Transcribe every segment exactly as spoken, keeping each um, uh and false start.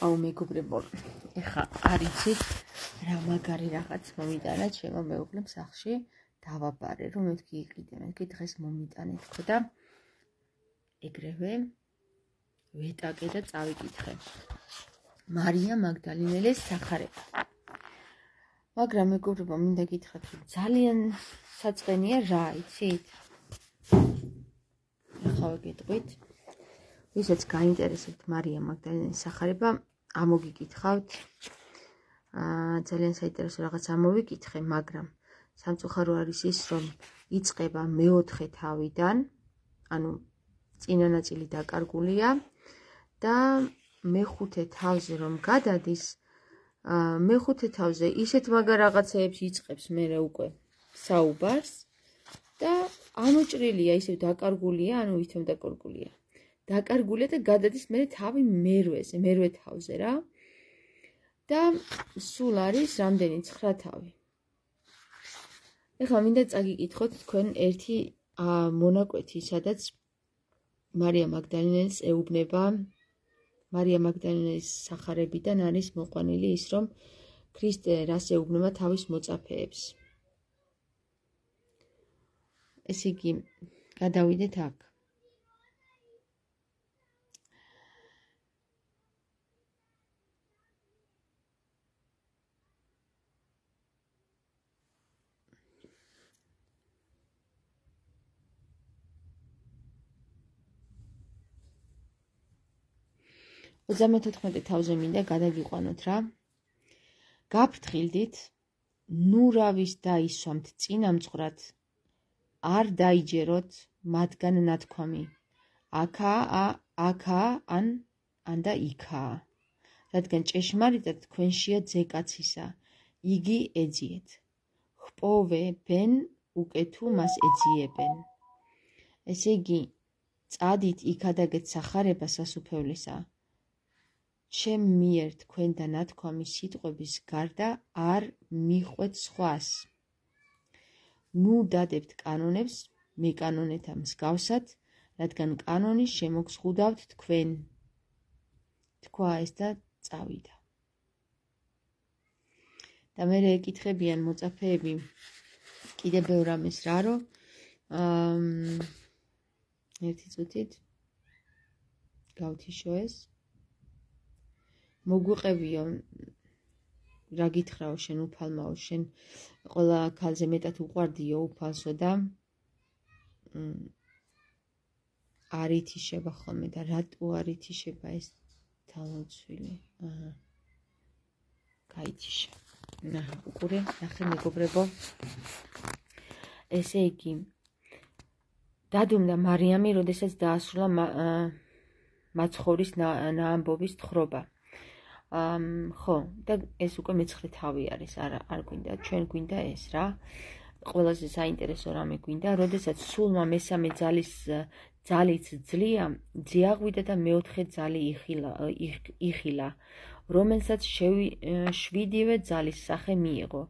აუ მეგობრებო, ეხა არ იცით რა მაგარი რაღაც მომიტანა ჩემო მეუღლემ სახლში დავაბარე, რომ მეთქი იყიდე, მეთქი დღეს მომიტანე თქო და ეგრევე ვეტაკე და წავიკითხე. მარია მაგდალინელის სახარება. მაგრამ მეგობრებო, მინდა გითხრათ, რომ ძალიან საწყენია რა, იცით? ეხლა ვეკითხით. ვისაც გაინტერესებთ მარია მაგდალინელის სახარება, ამოგიკითხავთ. აა ძალიან საინტერესო რაღაც ამოვიკითხე, მაგრამ სამწუხარო არის ის, რომ იწყება მეოთხე თავიდან, ანუ წინა ნაწილი დაკარგულია და მეხუთე თავზე რომ გადადის, აა მეხუთე თავზე ისეთ მაგარ რაღაცეებს იწყებს მერე უკვე საუბარს და ამოჭრილია, ისევ დაკარგულია, ანუ ვითომ დაკარგულია. დაკარგულია და გადადის მერე თავი მერვეზე, მერვე თავზე რა. და სულ არის რამდენი ცხრა თავი. ეხლა მინდა წაგიკითხოთ თქვენ ერთი მონაკვეთი, სადაც მარია მაგდალინელის ეუბნება, მარია მაგდალინელის სახარებიდან არის მოყვანილი ის, რომ ქრისტე რას ეუბნება თავის მოწაფეებს. ესე იგი, გადავიდეთ აქ. ოცდამეთოთხმეტე თავზე მინდა გადაგიყვანოთ რა. გაფრთხილდით, ნუ რავის დაისვამთ წინამძღვრად, არ დაიჯეროთ მათგან ნათქვამი. აქაა, აქაა, ან ან და იქაა. რადგან ჭეშმარიტად თქვენშია ძეკაცისა, იგი ეძიეთ. ჰპოვებენ უკვე თუ მას ეძიებენ. ესე იგი, წადით იქადაგეთ სახარება სასუფევლისა. ჩემ მიერ თქვენ და ნათქვამის სიტყვების გარდა არ მიხვეთ სხვას. ნუ დადებთ კანონებს მეკანონეთა მსგავსად, რადგან კანონი შემოგზღუდავთ თქვენ. თქვა ეს და წავიდა. და მერე ეკითხებიან მოწაფეები კიდე ბევრ ამის რა, რომ ერთი წუთით გავთიშო ეს. მოგვიყევიო, რა გითხრაო შენ უფალმაო, შენ ყველა ქალზე მეტად უყვარდიო უფალსო და არ ითიშება ხოლმე და რატო არ ითიშება ეს თავმოწვილი? აჰა. გაითიშა. ნახე, უყურე, ნახე მეგობრებო. ესე იგი, დადუმდა მარიამი, როდესაც დაასრულა მაცხოვრის ნაამბობის თხრობა. ხო, და ეს უკვე მეცხრე თავი არის, არ არ გვინდა, ჩვენ გვინდა ეს რა. ყველაზე საინტერესო რამე გვინდა, როდესაც სულმა მესამე ძალის ძალიც ძლია, ძიაღვიდა და მეოთხე ძალი იხილა, რომელსაც შვიდივე ძალის სახე მიიღო.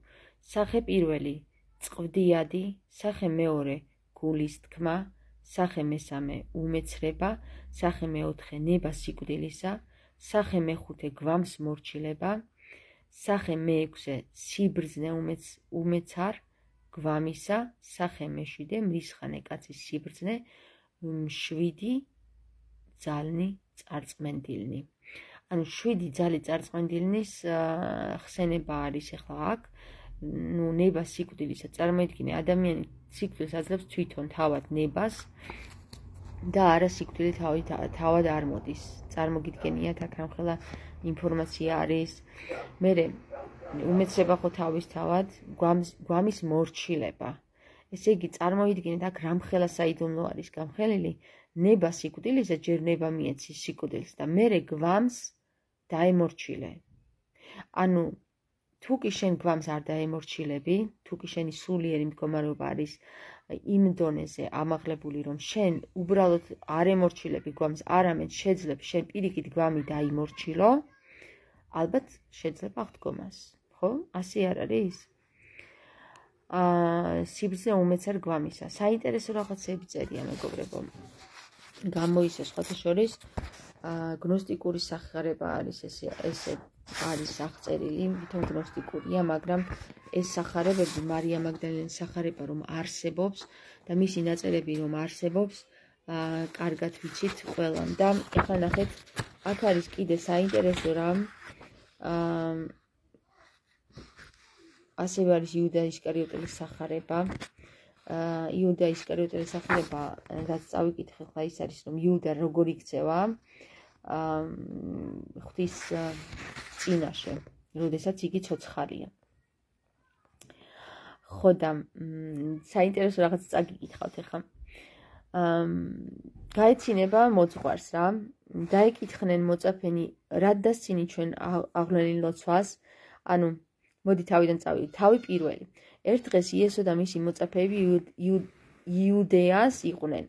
სახე პირველი წყვდიადი, სახე მეორე გულის თქმა, სახე მესამე უმეცრება, სახე მეოთხე ნება სიკვდილისა, სახე მეხუთე გვამს მორჩილება, სახე მეექვსე სიბრძნე უმეცარ გვამისა, სახე მეშვიდე მრისხანე კაცის სიბრძნე, შვიდი ძალნი წარწმენდილნი. ანუ შვიდი ძალი წარწმენდილნის ხსენება არის ახლა აქ. ნუ ნება სიკვდილისა, წარმოიდგინე, ადამიანი სიკვდილს აძლევს თვითონ თავად ნებას და არა სიკვდილი თავად არ მოდის. წარმოგიდგენიათ, აქ რამხელა ინფორმაცია არის. მერე უმეცრება ხო თავისთავად გვამის მორჩილება. ესე იგი, წარმოიდგინეთ, აქ რამხელა საიდუმლო არის გამხელილი, ნება სიკვდილისა ჯერ ნება მიეცის სიკვდილს და მერე გვამს დაემორჩილე. ანუ თუ კი შენ გვამს არ დაემორჩილები, თუ კი შენი სულიერი მდგომარეობა არის იმ დონეზე ამაღლებული, რომ შენ უბრალოდ არ ემორჩილები გვამს, არამედ შეძლებ შენ პირიქით გვამი დაიმორჩილო, ალბათ შეძლებ აღდგომას, ხო? ასე არ არის? აა სიბრძნე უმეცარ გვამისა. საინტერესო რაღაცები წერია მეგობრებო. გამოისო სხვათა შორის გნოსტიკური სახარება არის ესე ესე არის აღწერილი, თვითონ გნოსტიკურია, მაგრამ ეს სახარებები მარია მაგდალენის სახარება რომ არსებობს და მისი ნაწერები რომ არსებობს, კარგად ვიცით ყველამ და ეხლა ნახეთ, აქ არის კიდე საინტერესო რამ, ასევე არის იუდა ისკარიოტელის სახარება. იუდა ისკარიოტელის სახარება, რაც წავიკითხე ხლა ის არის, რომ იუდა როგორ იქცევა ღვთის წინაშე, როდესაც იგი ცოცხალია. ხო და საინტერესო რაღაც წაგიკითხავთ ახლა. გაეცინება მოძღვარს რა, დაეკითხნენ მოწაფენი, რად დასცინი ჩვენ აღვლენილ ლოცვას, ანუ მოდი თავიდან წავიდეთ. თავი პირველი. ერთ დღეს იესო და მისი მოწაფეები იუდეას იყვნენ.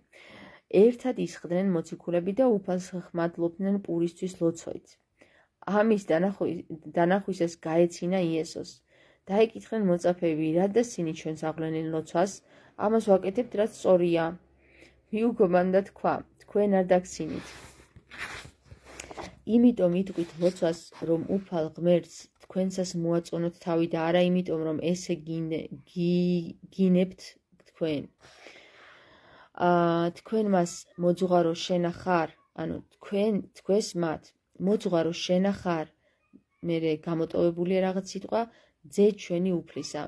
ერთად ისხდნენ მოციქულები და უფალს ხმადლობდნენ პურისთვის ლოცვით. ამის დანახვისას გაეცინა იესოს. დაეკითხნენ მოწაფეები, რად დასცინი ჩვენს აღვლენილ ლოცვას, ამას ვაკეთებთ, რაც სწორია. მიუგო მან და თქვა, თქვენ არ დაგცინით. იმიტომ იტყვით ლოცვას, რომ უფალ ღმერთს თქვენსას მოაწონოთ თავი და არა იმიტომ, რომ ესე გინებთ თქვენ. თქვენ მას მოძღვარო შენა ხარ, ანუ თქვენ თქვენს მათ მოძღვარო შენა ხარ, მერე გამოტოვებულია რაღაც სიტყვა, ძე ჩვენი უფლისა,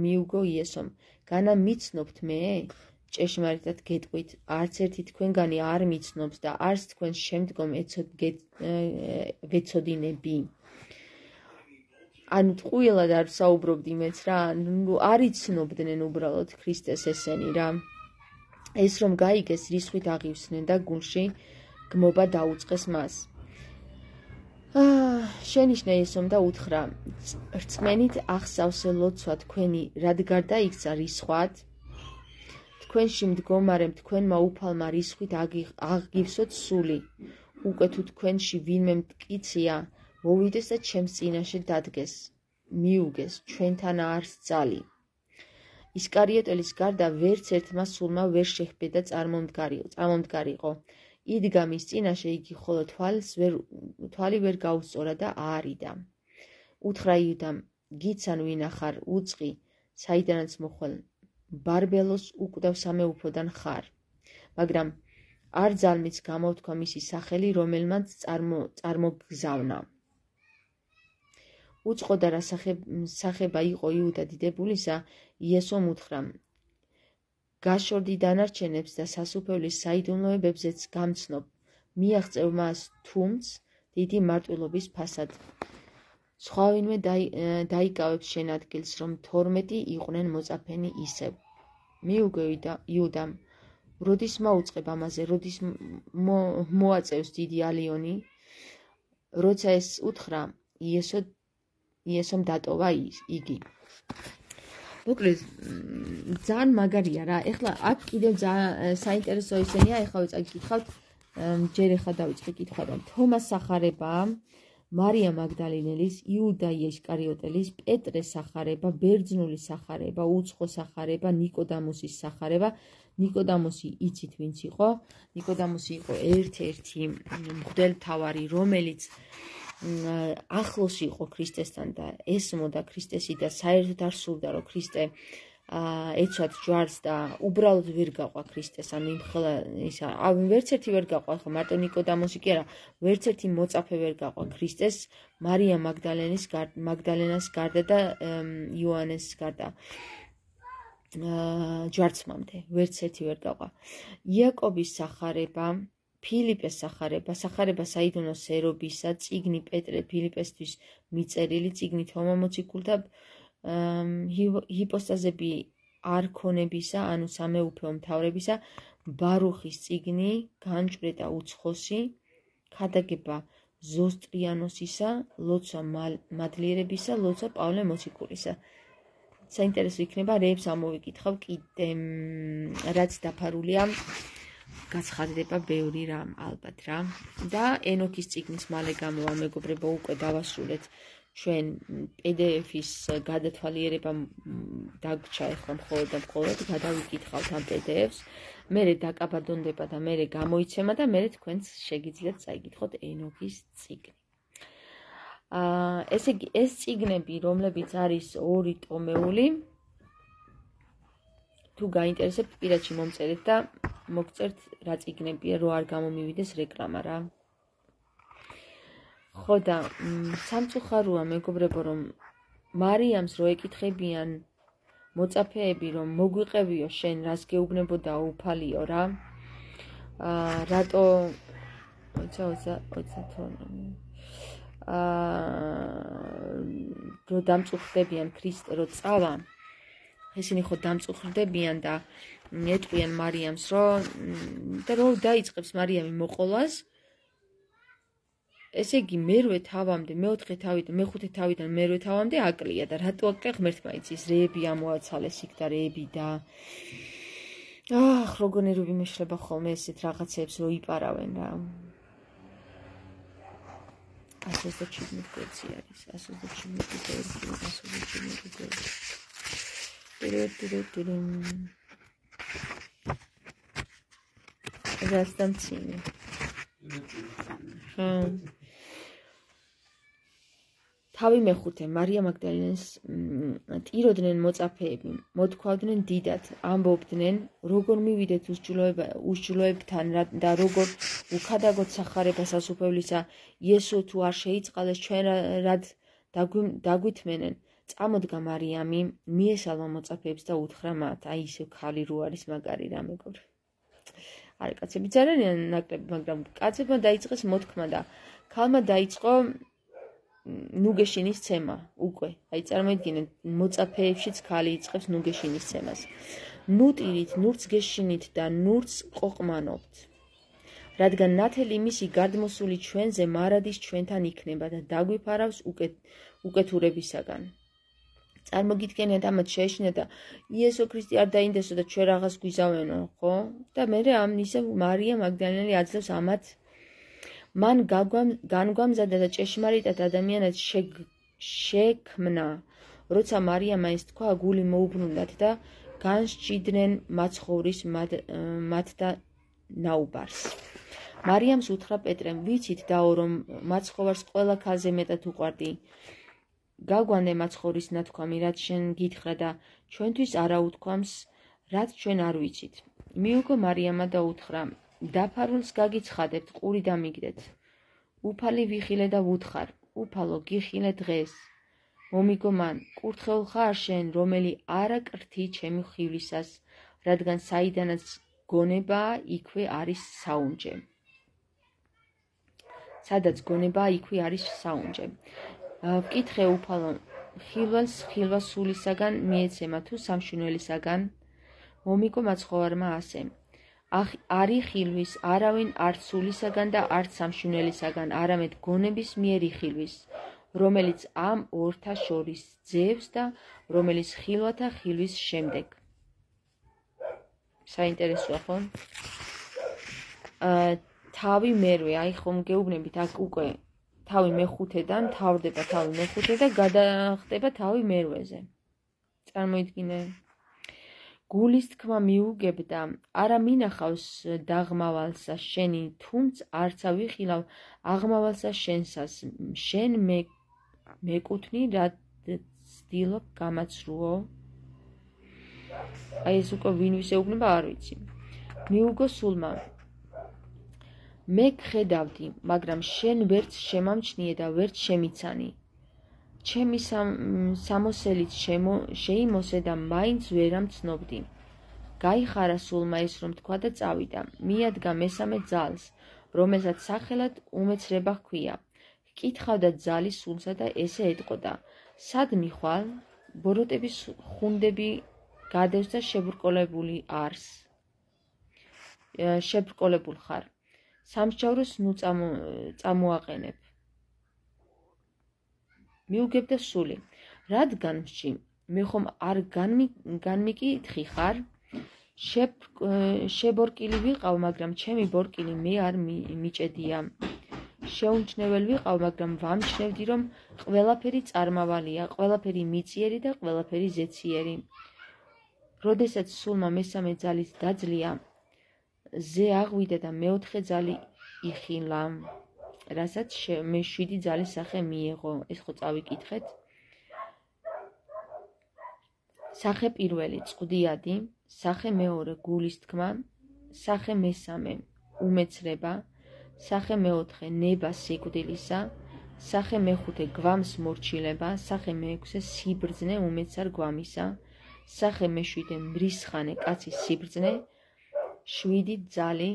მიუგო იესომ, განა მიცნობთ მე? ჭეშმარიტად გეტყვით, არც ერთი თქვენგანი არ მიცნობს და არც თქვენს შემდგომ ვეცოდინები. ანუ ტყუილად არ საუბრობდი მეც რა, არ იცნობდნენ უბრალოდ ქრისტეს ესენი რა. ეს რომ გაიგეს, რისხვით აღივსნენ და გულში გმობა დაუწყეს მას. შენიშნა იესომ და უთხრა, რწმენით ახსავსე ლოცვა თქვენი რად გარდაიქცა რისხვად? თქვენში მდგომარემ თქვენმა უფალმა რისხვით აღგივსოთ სული. უკვე თუ თქვენში ვინმე მტკიცია, მოვიდეს და ჩემს წინაშე დადგეს, მიუგეს, ჩვენთან არის ძალი. ისკარიოტელის გარდა ვერც ერთმა სულმა ვერ შეჰბე და წარმომდგარიყო. იდგა მის წინაშე, იგი ხოლო თვალი ვერ გაუსწორა და აარიდა. უთხრა იუდამ, გიცან ვინა ხარ, უწყი, საიდანაც მოხვალ, ბარბელოს უკვდავ სამეუფოდან ხარ. მაგრამ არ ძალმიც გამოვთქვა მისი სახელი, რომელმაც წარმოგზავნა. უწყოდა რა სახება იყო იუდა დიდებულისა, იესომ უთხრა, გაშორდი დანარჩენებს და სასუფევლის საიდუმლოებებზეც გამცნობ, მიაღწევ მას თუმც დიდი მარტვილობის ფასად. სხვა ვინმე დაიკავებს შენ ადგილს, რომ თორმეტი იყვნენ მოწაფენი ისევ. მიუგო იუდამ, როდის მაუწყებ ამაზე, როდის მოაწევს დიდი ალიონი? როცა ეს უთხრა, იესომ დატოვა იგი. მოკლედ, ძალიან მაგარია რა. ეხლა აქ კიდევ საინტერესო ისენია, ეხლა წაგიკითხავთ, ჯერ ეხლა დავიწყე კითხვა და თომას სახარება, მარია მაგდალინელის, იუდა ისკარიოტელის, პეტრეს სახარება, ბერძნულის სახარება, უცხო სახარება, ნიკოდამოსის სახარება. ნიკოდამოსი იცით ვინც იყო? ნიკოდამოსი იყო ერთ-ერთი მღვდელმთავარი, რომელიც ახლოს იყო ქრისტესთან და ესმოდა ქრისტესი და საერთოდ არ სურდა, რომ ქრისტე ეცვათ ჯვარს და უბრალოდ ვერ გაყვა ქრისტეს, ანუ იმხელა ისა, ვერც ერთი ვერ გაყვა, ხო მარტო ნიკოდამოსი კი არა, ვერც ერთი მოწაფე ვერ გაყვა ქრისტეს, მარია მაგდალენის მაგდალენას გარდა და იოანეს გარდა. ჯვარცმამდე, ვერც ერთი ვერ გაყვა. იაკობის სახარება, ფილიპეს სახარება, სახარება საიდუმლო სერობისა, წიგნი პეტრე ფილიპესთვის მიწერილი, წიგნი თომა მოციქულთა, ჰიპოსტაზები არქონებისა, ანუ სამეუფეო მთავრებისა, ბარუხის წიგნი, განჭვრეტა უცხოსი, ქადაგება ზოსტრიანოსისა, ლოცვა მადლიერებისა, ლოცვა პავლე მოციქულისა. საინტერესო იქნება, რეებს ამოვიკითხავ კიდე, რაც დაფარულია, გაცხადდება ბევრი რამ, ალბათ რა. და ენოქის წიგნის მალე გამოვა, მეგობრებო, უკვე დავასრულეთ ჩვენ პი დი ეფ-ის გადათვალიერება დაგვრჩა ეხლა მხოლოდ და მხოლოდ გადავიკითხავთ ამ პი დი ეფ-ს. მერე დაკაბადონდება და მერე გამოიცემა და მერე თქვენც შეგიძლიათ წაიკითხოთ ენოქის წიგნი. აა ესე იგი ეს წიგნები, რომლებიც არის ორი ტომეული, თუ გაინტერესებთ, პირადში მომწერეთ და მოგწერთ რა წიგნებია, რო არ გამომივიდეს რეკლამა რა. ხო და სამწუხაროა მეგობრებო, რომ მარიამს რო ეკითხებიან მოწაფეები, რომ მოგვიყევიო შენ, რას გეუბნებოდა უფალიო რა. აა რატო ოცა ოცა ოცა თორემ აა რო დამწუხრდებიან ქრისტე რო წავა, ესენი ხო დამწუხრდებიან და ეტყვიან მარიამს, რომ და რო დაიწყებს მარიამი მოყოლას, ესე იგი მერვე თავამდე, მეოთხე თავიდან, მეხუთე თავიდან მერვე თავამდე აკლია და რატო აკლია ღმერთმა იცის, რეები ამოაცალეს იქ და რეები და აჰ, როგორ ნერვები მეშლება ხოლმე ესეთ რაღაცებს რო იპარავენ რა. ასი ოცდაშვიდი გვერდში არის, ასი ოცდაშვიდი გვერდში, ასი ოცდაშვიდი გვერდში. რას დამცინე? ხო. თავი მეხუთე მარია მაგდალენას ტიროდნენ მოწაფეები, მოთქვავდნენ დიდად, ამბობდნენ, როგორ მივიდეთ უსჯულოებთან და როგორ უქადაგოთ სახარებას ასუფევლისა, იესო თუ არ შეიწყალეს ჩვენ რად დაგვითმენენ. წამოდგა მარიამი, მიესალმა მოწაფეებს და უთხრა მათ, აი ისევ ქალი რო არის მაგარი რა მეგობრ. არა კაცები ძარიან ნაკლები, მაგრამ კაცებმა დაიწყეს მოთქმა და ქალმა დაიწყო ნუგეშინის ცემა უკვე. აი წარმოიდგინეთ, მოწაფეებშიც ქალი იწყებს ნუგეშინის ცემას. ნუტირით, ნურც გეშინით და ნურც ყოყმანობთ. რადგან ნათელი მისი გარდმოსული ჩვენზე მარადის ჩვენთან იქნება და დაგვიფარავს უკეთურებისაგან. წარმოგიდგენიათ ამათ შეეშინათ და იესო ქრისტე არ დაინდესო და ჩვენ რაღაც გვიზავენო, ხო? და მერე ამ ისე მარია მაგდალენელი აძლევს ამათ მან განგვამზადა და ჭეშმარიტად ადამიანად შექმნა. როცა მარიამა ეს თქვა, გული მოუბრუნდათ და განსჭიდნენ მაცხოვრის მათ და ნაუბარს. მარიამს უთხრა პეტრემ, ვიცით დაო, რომ მაცხოვარს ყველა ქალზე მეტად უყვარდი. გაგვანდე მაცხოვრის ნათქვამი, რაც შენ გითხრა და ჩვენთვის არა უთქვამს, რაც ჩვენ არ ვიცით. მიუგო მარიამა და უთხრა, დაფარულს გაგიცხადებთ, ყური დამიგდეთ. უფალი ვიხილე და ვუთხარ, უფალო გიხილე დღეს. მომიგო მან, კურთხეულ ხარ შენ, რომელი არა კრთი ჩემი ხვივლისას, რადგან საიდანაც გონებაა, იქვე არის საუნჯე. სადაც გონებაა, იქვე არის საუნჯე. ვკითხე უფალო, ხილვალს ხილვა სულისაგან მიეცემა თუ სამშვენელისაგან? მომიგო მაცხოვარმა ასე. არი ხილვის, არავინ არც სულისაგან და არც სამშვენელისაგან, არამედ გონების მიერი ხილვის, რომელიც ამ ორთა შორის ძევს და რომელიც ხილვათა ხილვის შემდეგ. საინტერესოა ხო? თავი მერვე, აი ხომ გეუბნებით, აქ უკვე თავი მეხუთედან თავდება თავი მეხუთე და გადახტება თავი მერვეზე. წარმოიდგინე. გულის თქმა მიუგებდა, არა მინახავს დაღმავალსა შენი, თუმც არცა ვიხილავ აღმავალსა შენსას, შენ მეკუთვნი, რა ცდილობ გამაცრუო. აი ეს უკვე ვინ ვისეუბნება არ ვიცი. მიუგო სულმა, მე გხედავდი, მაგრამ შენ ვერც შემამჩნიე და ვერც შემიცანი. ჩემი სამოსელით შეიმოსე და მაინც ვერ ამცნობდი. გაიხარა სულმა ეს რომ თქვა და წავიდა. მიადგა მესამე ძალს, რომელსაც სახელად უმეცრება ჰქვია. ჰკითხავდა ძალის სულსა და ესე ეტყოდა. სად მიხვალ? ბოროტების ხუნდები გადევს და შებრკოლებული არს. შებრკოლებულ ხარ. სამსჯავროს ნუ წამოაყენებ. მიუგებდა სული, რადგან მში, მე ხომ არ განმიკითხი ხარ? შებორკილი ვიყავ, მაგრამ ჩემი ბორკილი მე არ მიჭედია. შეუმჩნეველი ვიყავ, მაგრამ ვამჩნევდი, რომ ყველაფერი წარმავალია, ყველაფერი მიწიერი და ყველაფერი ზეციერი. როდესაც სულმა მესამე ძალით დაძლია, ზე აღვიდა და მეოთხე ძალი იხილა, რასაც მე შვიდი ძალის სახე მიეღო. ეს ხო წავიკითხეთ. სახე პირველი წყდიადი, სახე მეორე გულის თქმა, სახე მესამე უმეცრება, სახე მეოთხე ნება სიკვდილისა, სახე მეხუთე გვამს მორჩილება, სახე მეექვსე სიბრძნე უმეცარ გვამისა, სახე მეშვიდე მრისხანე კაცის სიბრძნე, შვიდი ძალი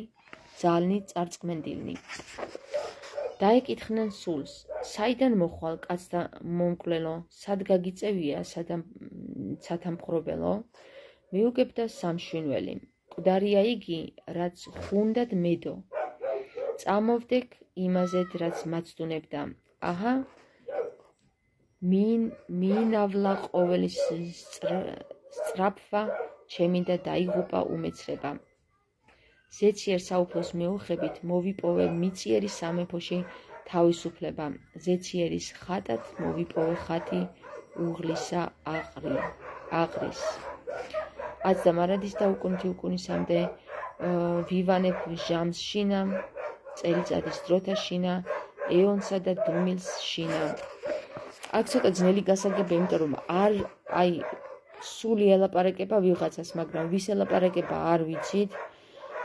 ძალნი წარწმენდილნი. დაეკითხნენ სულს, საიდან მოხვალ კაცთა მომკვლელო, სად გაგიწევია სათამხრობელო? მიუგებდა სამშვინველი, მკვდარია იგი, რაც ხუნდად მედო. წამოვდეკ იმაზედ, რაც მაცდუნებდა. აჰა, მიინავლა ყოველი სწრაფვა, ჩემი და დაიღუპა უმეცრება. ზეციერ საუფლოს მეუხებით მოვიპოვე მიწიერი სამეფოში თავისუფლება. ზეციერის ხატად მოვიპოვე ხატი უღლისა აყრის. აც და მარადის და უკუნთი უკუნისამდე ვივანებ ჟამს შინა, წელიწადის დროთა შინა, ეონსა და დუმილს შინა. აქ ცოტა ძნელი გასაგებია, იმიტომ რომ არ აი სული ელაპარაკება ვიღაცას, მაგრამ ვის ელაპარაკება არ ვიცით,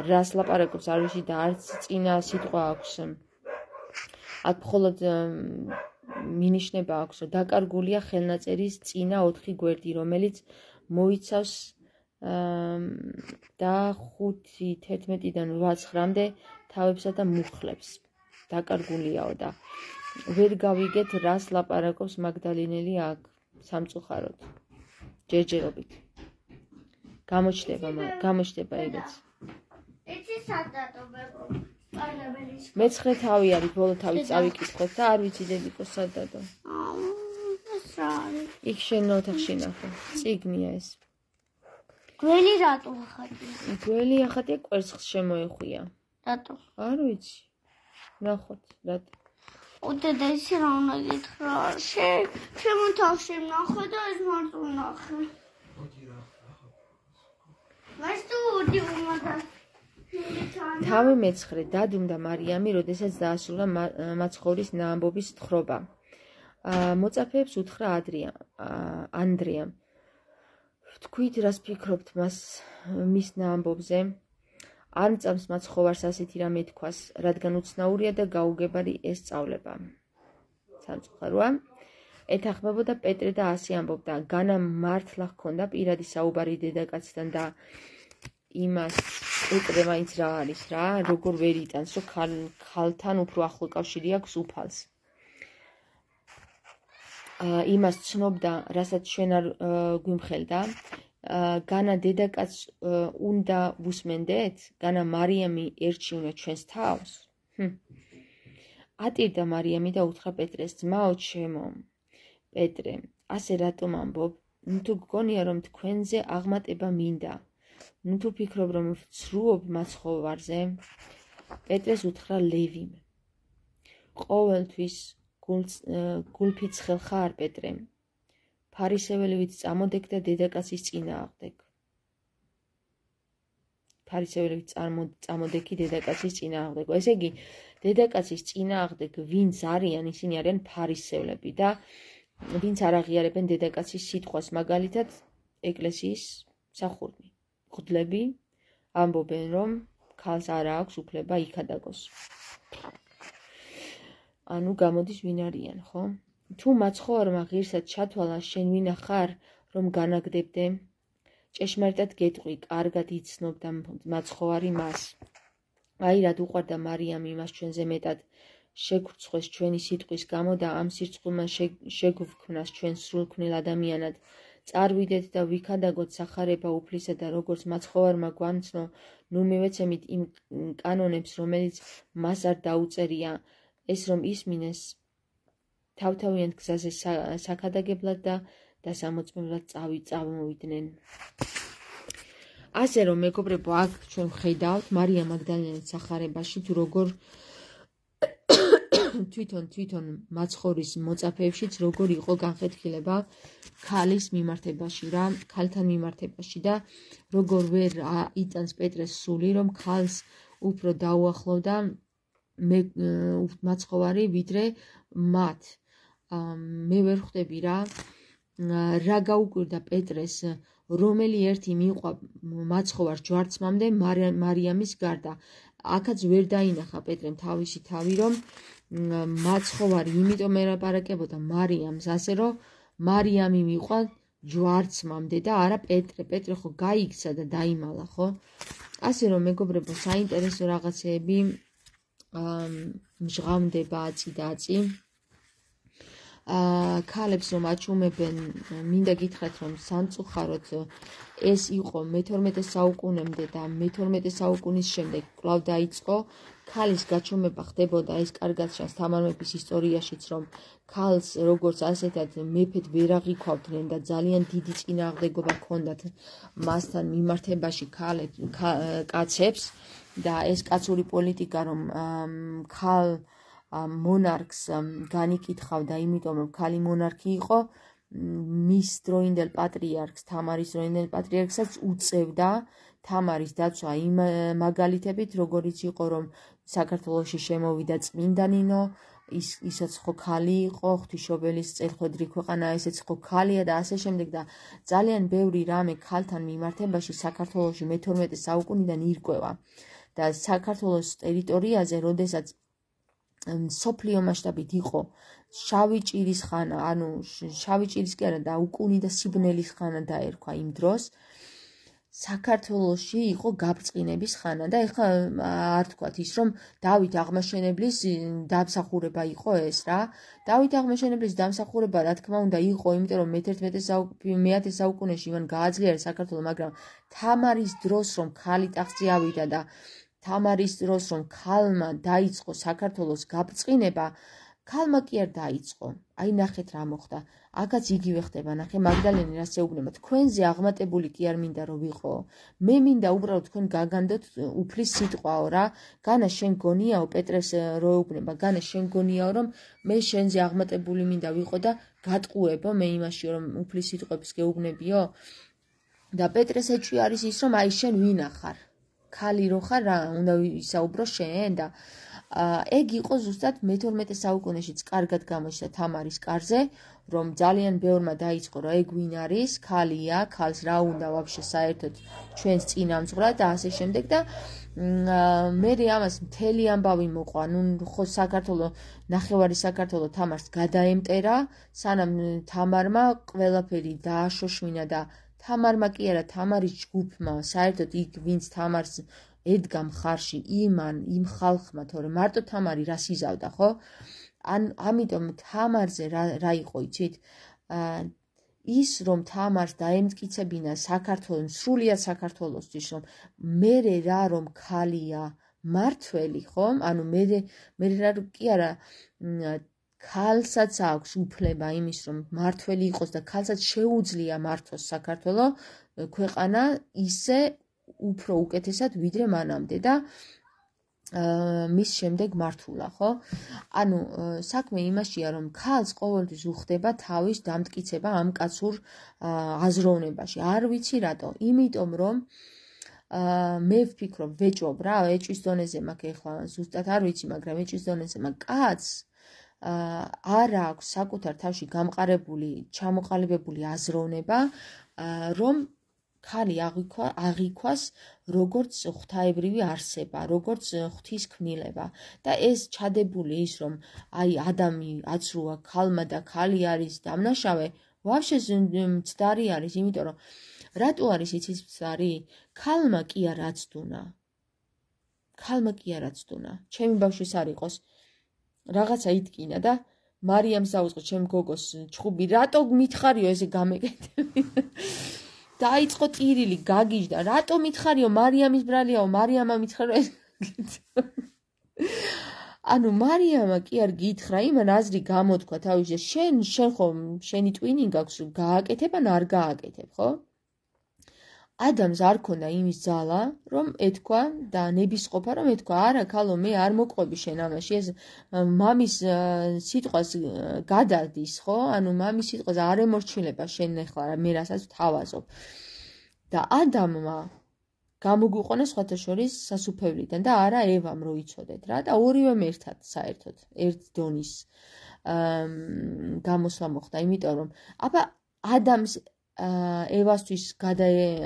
რას ლაპარაკობს არ ვიცით და არც წინა სიტყვა აქვს. აქ მხოლოდ მინიშნება აქვს, რომ დაკარგულია ხელნაწერის წინა ოთხი გვერდი, რომელიც მოიცავს და ხუთი თერთმეტიდან რვა ცხრამდე თავებსა და მუხლებს. დაკარგულიაო და ვერ გავიგეთ, რას ლაპარაკობს მაგდალინელი აქ სამწუხაროდ. ჯერჯერობით. გამოჩნდება, გამოჩნდება ეგეც. იცი სადადო მეგობარი. მეცხრე თავი არის, ბოლო თავი წავიკითხოთ და არ ვიცი დედიკო სადადო. ეს რა არის? იქ შენ ოთახში ნახე. წიგნია ეს. გველი რატო ახატია? გველი ახატია, კვერცხს შემოეხვია. რატო? არ ვიცი. ნახოთ, რატო. უდედა ისე რა უნდა გითხრა? შემო თავში ნახე და ეს მარტო ნახე. მას თუ უდი უმაგა. თავი მეცხრე დადუმდა მარიამი, როდესაც დაასრულა მაცხოვრის ნაამბობის თხრობა. მოწაფეებს უთხრა ანდრია. თქვით, რას ფიქრობთ მას მის ნაამბობზე? არ მწამს მაცხოვარს ასეთი რამე თქვას, რადგან უცნაურია და გაუგებარი ესწავლება. სამწუხაროა. ეთანხმებოდა პეტრე და ასე ამბობდა. განა მართლა ჰქონდა პირადი საუბარი დედაკაცთან და იმას პეტრე მაინც რა არის რა, როგორ ვერ იტანს, რომ ქალთან უფრო ახლო კავშირი აქვს უფალს. იმას ცნობდა, რასაც ჩვენ არ გვიმხელდა. განა დედაკაც უნდა ვუსმენდეთ? განა მარიამი ერჩიונה ჩვენს თავს? ატირდა მარიამი და უთხრა პეტრეს, ძმაო ჩემო. პეტრე, ასე რატომ ამბობ? ნუ თუ გგონია, რომ თქვენზე აღმატება მინდა. ნუ თუ ფიქრობ, რომ ვცრუობ მაცხოვარზე? პეტრეს უთხრა ლევიმ. ყოველთვის გულფიცხელ ხარ, პეტრე. ფარისეველი ვით წამოდეკ და დედაკაცის წინააღმდეგ. ფარისეველი ვით წამოდექი დედაკაცის წინააღმდეგ. ესე იგი, დედაკაცის წინააღმდეგ ვინც არიან, ისინი არიან ფარისევლები და ვინც არ აღიარებენ დედაკაცის სიტყვას, მაგალითად ეკლესიის მსახურნი. მღვდლები ამბობენ, რომ ქალს არ აქვს უფლება იქადაგოს. ანუ გამოდის ვინ არიან, ხო? თუ მაცხოვარმა ღირსად ჩათვალა, შენ ვინა ხარ, რომ განაგდებდე? ჭეშმარიტად გეტყვი, კარგად იცნობდა მაცხოვარი მას. აი რად უყვარდა მარიამი მას ჩვენზე მეტად, შეგვრცხვეს ჩვენი სიტყვის გამო და ამ სირცხვილმა შეგვქმნას ჩვენ სრულქმნილ ადამიანად. წარვიდეთ და ვიქადაგოთ სახარება უფლისა და როგორც მაცხოვარმა გვამცნო, ნუ მივეცემით იმ კანონებს, რომელიც მას არ დაუწერია, ეს რომ ისმინეს თავთავიანთ გზაზე საქადაგებლად და დასამოწმებლად წამოვიდნენ. ასე რომ მეგობრებო, აქ ჩვენ ვხედავთ მარია მაგდალინელის სახარებაში, თუ როგორ თვითონ თვითონ მაცხოვრის მოწაფეებშიც როგორ იყო განხეთქილება ქალის მიმართებაში რა, ქალთან მიმართებაში და როგორ ვერ იტანს პეტრეს სული, რომ ქალს უფრო დაუახლოვდა მე მაცხოვარი ვიდრე მათ. მე ვერ ხვდები რა, რა გაუკვირდა პეტრეს, რომელი ერთი მიყვა მაცხოვარ ჯვარცმამდე მარიამის გარდა. აქაც ვერ დაინახა პეტრემ თავისი თავი, რომ მაცხოვარი იმიტომ ელაპარაკებოდა მარიამს, ასე რომ მარიამი მიყვა ჯვარცმამდე და არა პეტრე. პეტრე ხო გაიქცა და დაიმალა, ხო? ასე რომ მეგობრებო, საინტერესო რაღაცეები მჟღავდება აწი და აწი. ქალებს რომ აჩუმებენ, მინდა გითხრათ, რომ სამწუხაროდ ეს იყო მეთორმეტე საუკუნემდე და მეთორმეტე საუკუნის შემდეგ კვლავ დაიწყო. ქალის გაჩუმება ხდებოდა, ეს კარგად ჩანს თამარ მეფის ისტორიაშიც, რომ ქალს როგორც ასეთად მეფედ ვერ აღიქვავდნენ და ძალიან დიდი წინააღმდეგობა ჰქონდათ მასთან მიმართებაში კაცებს და ეს კაცური პოლიტიკა, რომ ქალ მონარქს განიკითხავდა, იმიტომ რომ ქალი მონარქი იყო, მის დროინდელ პატრიარქს, თამარის დროინდელ პატრიარქსაც უწევდა თამარის დაცვა იმ მაგალითებით, როგორიც იყო, რომ საქართველოში შემოვიდა წმინდა ნინო, ის ისაც ხო ქალი იყო, ღვთისმშობელის წელხვედრი ქვეყანა ესეც ხო ქალია და ასე შემდეგ და ძალიან ბევრი რამე ქალთან მიმართებაში საქართველოში მეთორმეტე საუკუნიდან ირკვევა და საქართველოს ტერიტორიაზე, როდესაც სოფლიო მასშტაბით იყო შავი ჭირის ხანა, ანუ შავი ჭირის კი არა და უკუნი და სიბნელის ხანა დაერქვა იმ დროს, საქართველოში იყო გაბრწყინების ხანა და ეხლა არ თქვათ ის, რომ დავით აღმაშენებლის დამსახურება იყო ეს რა. დავით აღმაშენებლის დამსახურება რა თქმა უნდა იყო, იმიტომ რომ მეათე საუკუნეში მან გააძლიერა საქართველო, მაგრამ თამარის დროს რომ ქალი ტახტზე ავიდა და თამარის დროს რომ ქალმა დაიწყო საქართველოს გაბრწყინება, ქალმა კი არ დაიწყო. აი ნახეთ რა მოხდა. აქაც იგივე ხდება, ნახე მაგდალენი რას ეუბნება. თქვენზე აღმატებული კი არ მინდა რომ ვიყო. მე მინდა უბრალოდ თქვენ გაგანდოთ უფლის სიტყვაო რა. განა შენ გონიაო, პეტრეს რო ეუბნება, განა შენ გონიაო, რომ მე შენზე აღმატებული მინდა ვიყო და გატყუებო მე იმაში, რომ უფლის სიტყვებს გეუბნებიო. და პეტრეს ეჭვი არის ის, რომ აი შენ ვინა ხარ? ქალი რო ხარ რა, უნდა ვისაუბრო შენ და ეგ იყო ზუსტად მეთორმეტე საუკუნეშიც კარგად გამოჩნდა თამარის კარზე, რომ ძალიან ბევრმა დაიწყო, რომ ეგ ვინ არის, ქალია, ქალს რა უნდა ვაფშე საერთოდ ჩვენს წინამძღვრად და ასე შემდეგ და მე ამას მთელი ამბავი მოყვა, ნუ ხო საქართველო, ნახევარი საქართველო თამარს გადაემტერა, სანამ თამარმა ყველაფერი დააშოშმინა და თამარმა კი არა, თამარის ჯგუფმა, საერთოდ იქ ვინც თამარს ედგა მხარში, იმან, იმ ხალხმა, თორე მარტო თამარი რას იზავდა, ხო? ან ამიტომ თამარზე რა, რა იყო, იცით? ის რომ თამარს დაემტკიცებინა საქართველოს, სრულიად საქართველოსთვის, რომ მერე რა რომ ქალია მართველი, ხო? ანუ მერე მერე რა კი არა ქალსაც აქვს უფლება იმის, რომ მართველი იყოს და ქალსაც შეუძლია მართოს საქართველო ქვეყანა ისე უფრო უკეთესად ვიდრე მანამდე და მის შემდეგ მართულა, ხო? ანუ საქმე იმაშია, რომ ქალს ყოველთვის უხდება თავის დამტკიცება ამ კაცურ აზროვნებაში. არ ვიცი რატო, იმიტომ რომ მე ვფიქრობ, ვეჭვობ რა, ეჭვის დონეზე მაქვს ეხლა ზუსტად არ ვიცი, მაგრამ ეჭვის დონეზე მაქვს კაცს არ აქვს საკუთარ თავში გამყარებული, ჩამოყალიბებული აზროვნება, რომ ქალი აღიქვას როგორც ღვთაებრივი არსება, როგორც ღვთის ქმნილება და ეს ჩადებული ის, რომ აი ადამი აცრუა ქალმა და ქალი არის დამნაშავე, ვაფშე მცდარი არის, იმიტომ რომ რატო არის იცის მცდარი? ქალმა კი არ აცდუნა. ქალმა კი არ აცდუნა. ჩემი ბავშვის არ იყოს რაღაცა იტკინა და მარიამს დაუწყო ჩემ გოგოს ჩხუბი, რატო მითხარიო ესე გამეკეთები? დაიწყო ტირილი, გაგიჟდა, რატო მითხარიო, მარიამის ბრალიაო, მარიამა მითხარო ეს. ანუ მარიამა კი არ გითხრა, იმან აზრი გამოთქვა თავის, შენ შენ ხო შენი ტვინი გაქვს, გააკეთებ ან არ გააკეთებ, ხო? ადამიანს არ ქონდა იმის ძალა, რომ ეთქვა და ნებისყოფა, რომ ეთქვა, არა, ქალო, მე არ მოყვები შენ ამაში, ეს მამის სიტყვას გადადის, ხო? ანუ მამის სიტყვას არ ემორჩილება შენ ახლა მე რასაც ვთავაზობ. და ადამმა გამოგვიყონა სხვათა შორის სასუფევლიდან და არა ევამ რო იცოდეთ რა და ორივემ ერთად საერთოდ ერთ დონის გამოსვლა მოხდა, იმიტომ რომ აბა ადამს ევასთვის გადა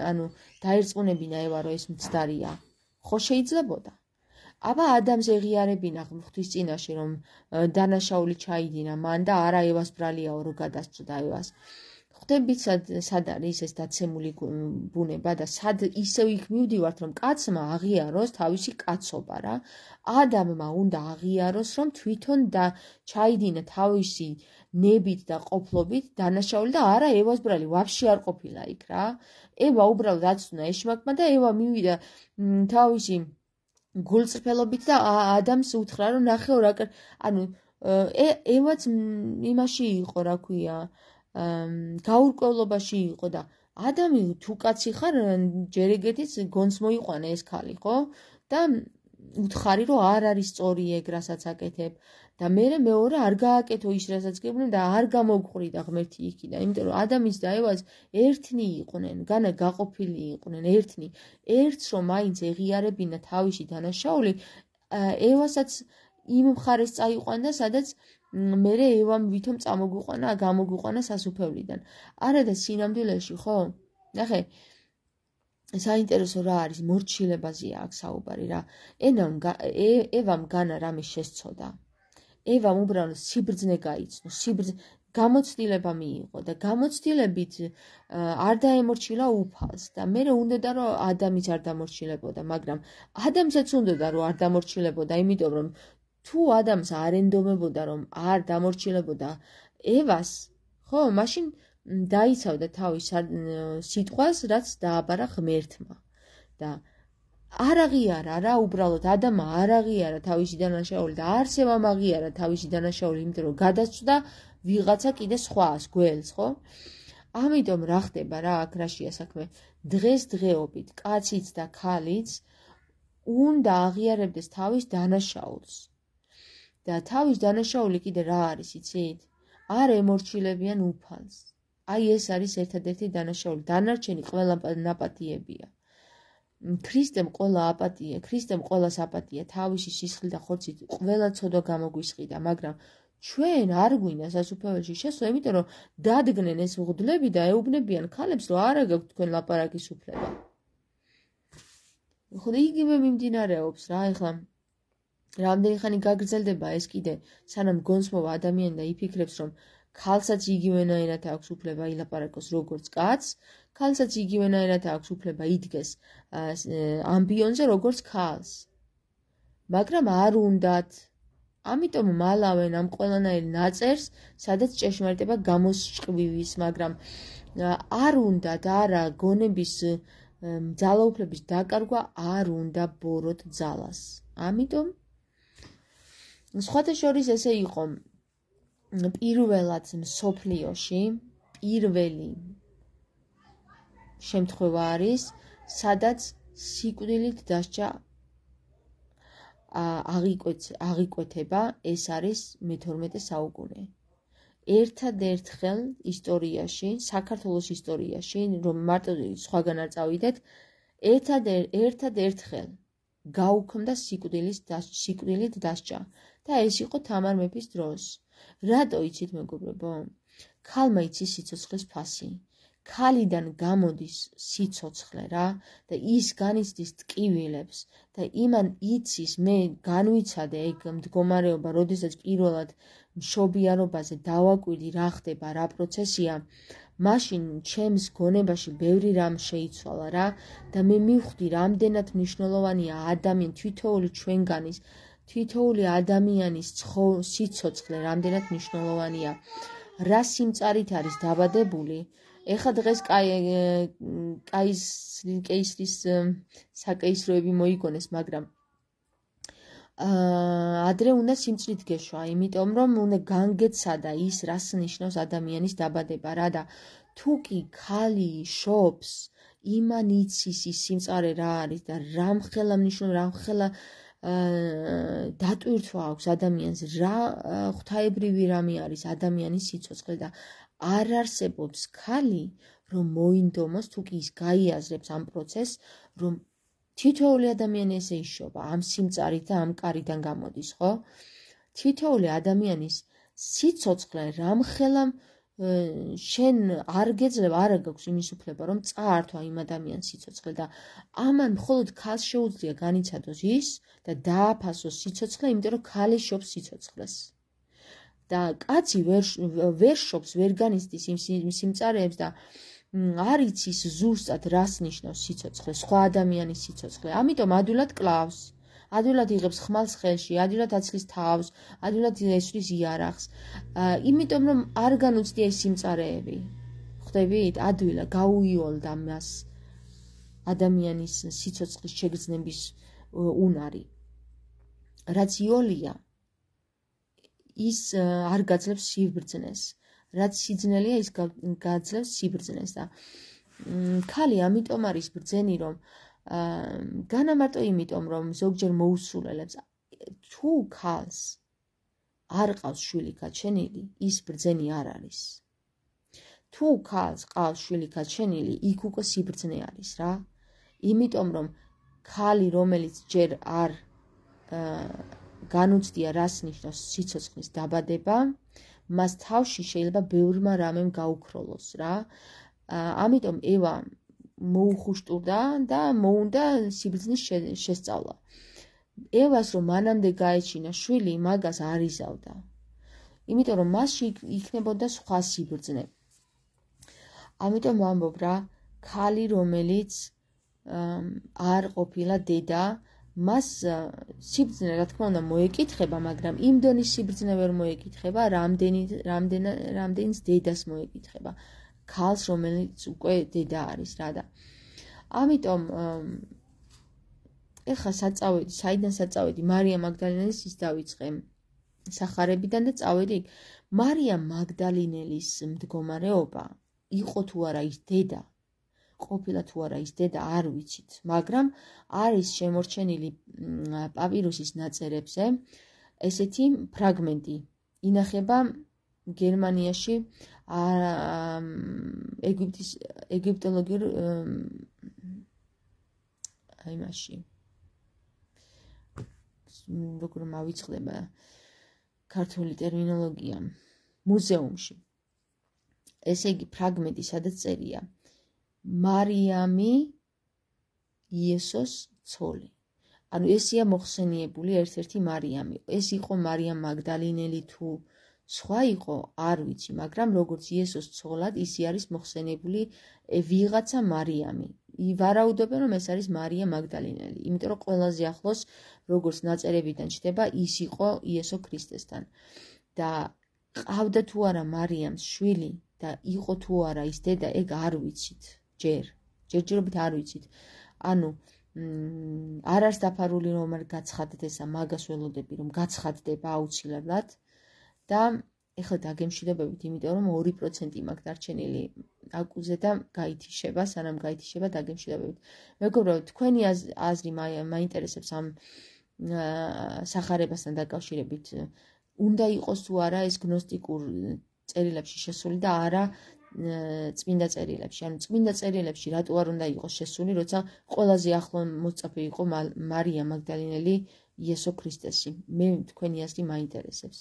ანუ დაერწმუნებინა ევა რომ ეს მცდარია. ხო შეიძლებოდა. აბა ადამს ეღიარებინა ღვთის წინაშე რომ დანაშაული ჩაიდინა მან და არა ევას ბრალიაო რომ გადასწოდა ევას. ხვდებით სად არის ეს დაცემული ბუნება და სად ისევ იქ მივდივართ რომ კაცმა აღიაროს თავისი კაცობა რა. ადამმა უნდა აღიაროს რომ თვითონ და ჩაიდინა თავისი ნებით და ყოფლობით დანაშაული და არა ევას ბრალი ვაფშე არ ყოფილა იქ რა. ევა უბრალოდ აცნუა ეშმაკმა და ევა მივიდა თავისი გულწრფელობით და ადამს უთხრა რომ ნახეო რა ანუ ევაც იმაში იყო რა ქვია გაურკვევლობაში იყო და ადამი თუ კაცი ხარ ჯერ ეგეთიც გონს მოიყვანე ეს ქალი ხო და უთხარი რომ არ არის სწორი ეგ რასაც აკეთებ და მე მეორე არ გააკეთო ის რასაც გებდნენ და არ გამოგყვრიდა ღმერთი იქიდან იმიტომ რომ ადამის და ევას ერთნი იყვნენ განა გაყოფილი იყვნენ ერთნი ერთს რომ მაინც ეღიარებინა თავისი დანაშაული ევასაც იმ მხარეს წაიყვანდა სადაც მერე ევამ ვითომ წამოგვიყვანა გამოგვიყვანა სასუფევლიდან არა და სინამდვილეში ხო ნახე საინტერესო რა არის მორჩილებაზეა აქ საუბარი რა ენამ ევამ განა რამე შესწოდა ევამ უბრალოდ სიბრძნე გაიცნო სიბრძნე გამოცდილება მიიღო და გამოცდილებით არ დაემორჩილა უფალს და მერე უნდოდა რომ ადამიც არ დამორჩილებოდა მაგრამ ადამსაც უნდოდა რომ არ დამორჩილებოდა იმიტომ რომ თუ ადამიანს არ ენდომებოდა რომ არ დამორჩილებოდა ევას ხო მაშინ დაიცავდა თავის სიტყვას რაც დააბარა ღმერთმა და არ აღიარა რა უბრალოდ ადამა არ აღიარა თავისი დანაშაული და არც ევამ აღიარა თავისი დანაშაული იმიტომ რომ გადასწვდა ვიღაცა კიდე სხვას გველს ხო ამიტომ რა ხდება რა აქ რაშია საქმე დღეს დღეობით კაციც და ქალიც უნდა აღიარებდეს თავის დანაშაულს და თავის დანაშაული კიდე რა არის იცით? არ ემორჩილებიან უფალს. აი ეს არის ერთადერთი დანაშაული. დანარჩენი ყველა ნაპატიებია. ქრისტემ ყველა აპატია, ქრისტემ ყველას აპატია, თავისი სისხლით და ხორცით ყველა ცოდვა გამოგვისყიდა, მაგრამ ჩვენ არ გვინდა სასუფეველში შესვლა, იმიტომ რომ დადგნენ ეს მღვდლები და ეუბნებიან ქალებს, რომ არა გაქვთ თქვენ ლაპარაკის უფლება. ხო იგივე მიმდინარეობს რა, ეხლა რამდენი ხანი გაგრძელდება ეს კიდე, სანამ გონს მოვა ადამიანი და იფიქრებს, რომ ქალსაც იგივენაირად აქვს უფლება ილაპარაკოს როგორც კაცს, ქალსაც იგივენაირად აქვს უფლება იდგეს ამბიონზე როგორც ქალს. მაგრამ არ უნდათ. ამიტომ მალავენ ამ ყველანაირ ნაწერს, სადაც ჭეშმარიტება გამოსჭყვივის, მაგრამ არ უნდათ, არა გონების ძალაუფლების დაკარგვა არ უნდა ბოროთ ძალას. ამიტომ სხვათა შორის ესე იყო პირველად მსოფლიოში პირველი შემთხვევა არის, სადაც სიკვდილით დასჯა აღიკვეთება, ეს არის მეთორმეტე საუკუნე. ერთადერთხელ ისტორიაში, საქართველოს ისტორიაში, რომ მარტო სხვაგან არ წავიდეთ, ერთადერთხელ გაუქმდა სიკვდილით დასჯა და ეს იყო თამარ მეფის დროს. რატო იცით მეგობრებო? ქალმა იცის სიცოცხლის ფასი. ქალიდან გამოდის სიცოცხლე რა და ის განიცდის ტკივილებს და იმან იცის მე განვიცადე ეგ მდგომარეობა, როდესაც პირველად მშობიარობაზე დავაკვირდი რა ხდება, რა პროცესია, მაშინ ჩემს გონებაში ბევრი რამ შეიცვალა რა და მე მივხვდი რამდენად მნიშვნელოვანია ადამიანი თითოეული ჩვენგანის თითოეული ადამიანის სიცოცხლე რამდენად მნიშვნელოვანია. რა სიმწარით არის დაბადებული ეხლა დღეს კაისრის საკეისროები მოიგონეს, მაგრამ ადრე უნდა სიმწრით გეშვა, იმიტომ რომ უნდა განგეცადა ის, რას ნიშნავს ადამიანის დაბადება რა და თუ კი ქალი შობს იმან იცის ის სიმწარე რა არის და რამხელა მნიშვნელობა, რამხელა დატვირთვა აქვს ადამიანს, რა ღვთაებრივი რამე არის ადამიანის სიცოცხლე და არ არსებობს ქალი, რომ მოინდომოს, თუ კი ის გაიაზრებს ამ პროცესს, რომ თითოეული ადამიანი ესე იშობა, ამ სიმწარით და ამ კარიდან გამოდის, ხო? თითოეული ადამიანის სიცოცხლე რამხელა შენ არ გეძლება, არ გაქვს იმის უფლება, რომ წაართვა იმ ადამიანის სიცოცხლე და ამან მხოლოდ ქალს შეუძლია განიცადოს ის და დააფასოს სიცოცხლე, იმიტომ რომ ქალი შობს სიცოცხლეს. და კაცი ვერ ვერ შობს, ვერ განიცდის იმ სიმწარეებს და არ იცის ზუსტად რას ნიშნავს სიცოცხლე, სხვა ადამიანის სიცოცხლე. ამიტომ ადვილად კლავს. ადვილად იღებს ხმალს ხელში, ადვილად აცლის თავს, ადვილად ესვრის იარაღს. იმიტომ რომ არ განუცდია ის სიმწარეები. ხვდებით? ადვილად გაუიოლდა მას ადამიანის სიცოცხლის შეგრძნების უნარი. რაც იოლია, ის არ გაძლევს სიბრძნეს. რაც სიძნელია, ის გაძლევს სიბრძნეს და ქალი ამიტომ არის ბრძენი, რომ განა მარტო იმიტომ, რომ ზოგჯერ მოусულელებს თუ ქალს არ ყავს შვილი გაჩენილი, ის ბრძენი არ არის. თუ ქალს ყავს შვილი გაჩენილი, იქ უკვე სიბრძნე არის რა. იმიტომ რომ ქალი, რომელიც ჯერ არ განუცდია რას ნიშნავს სიცოცხლის დაბადება, მას თავში შეიძლება ბევრმა რამემ გაუქროლოს რა. ამიტომ ევა მოუხუშტურდა და მოუნდა სიბრძნის შესწავლა. ევას რომ მანამდე გაეჩინა შვილი, მაგას არ იზავდა. იმიტომ რომ მასში იქნებოდა სხვა სიბრძნე. ამიტომ ვამბობ რა, ქალი რომელიც არ ყოფილა დედა, მას სიბრძნე რა თქმა უნდა მოეკითხება, მაგრამ იმ დონის სიბრძნე ვერ მოეკითხება, რამდენიც დედას მოეკითხება. ქალს, რომელიც უკვე დედა არის რა და. ამიტომ ეხლა საწავედი, საიდან საწავედი, მარია მაგდალინელის ის დავიწყე სახარებიდან და წავედი იქ. მარია მაგდალინელის მდგომარეობა იყო თუ არა ის დედა, ყოფილა თუ არა ის დედა, არ ვიცით, მაგრამ არის შემორჩენილი პაპირუსის ნაწერებზე ესეთი ფრაგმენტი. ინახება გერმანიაში ეგვიპტის ეგვიპტოლოგიურ აი მასში როგორ მავიწყდება ქართული ტერმინოლოგია მუზეუმში. ესე იგი ფრაგმენტი, სადაც წერია მარიამი იესოს ცოლი. ანუ ესია მოხსენიებული ერთ-ერთი მარიამი. ეს იყო მარიამ მაგდალინელი თუ სხვა იყო, არ ვიცი, მაგრამ როგორც იესოს ცოლად, ისი არის მოხსენებული ვიღაცა მარიამი. ვარაუდობენ, რომ ეს არის მარია მაგდალინელი, იმიტომ რომ ყველაზე ახლოს, როგორც ნაწერებიდან ჩნდება, ის იყო იესო ქრისტესთან. და ყავდა თუ არა მარიამს შვილი და იყო თუ არა ის დედა, ეგ არ ვიცით. ჯერ, ჯერჯერობით არ ვიცით. ანუ არ არის დაფარული, რომ არ გაცხადდეს ესა, მაგას ველოდები, რომ გაცხადდება აუცილებლად. და ეხლა დაგემშვიდობებით, იმიტომ რომ ორი პროცენტი მაქვს დარჩენილი აკუზე და გაითიშება, სანამ გაითიშება დაგემშვიდობებით. მეგობრებო, თქვენი აზრი მაინტერესებს ამ სახარებასთან დაკავშირებით. უნდა იყოს თუ არა ეს გნოსტიკურ წერილებში შესული და არა წმინდა წერილებში. ანუ წმინდა წერილებში რატო არ უნდა იყოს შესული, როცა ყველაზე ახლო მოწაფე იყო მარია მაგდალინელი იესო ქრისტესი. მე თქვენი აზრი მაინტერესებს.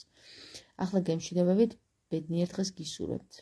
ახლა გემშვიდობებით, ბედნიერ დღეს გისურვებთ.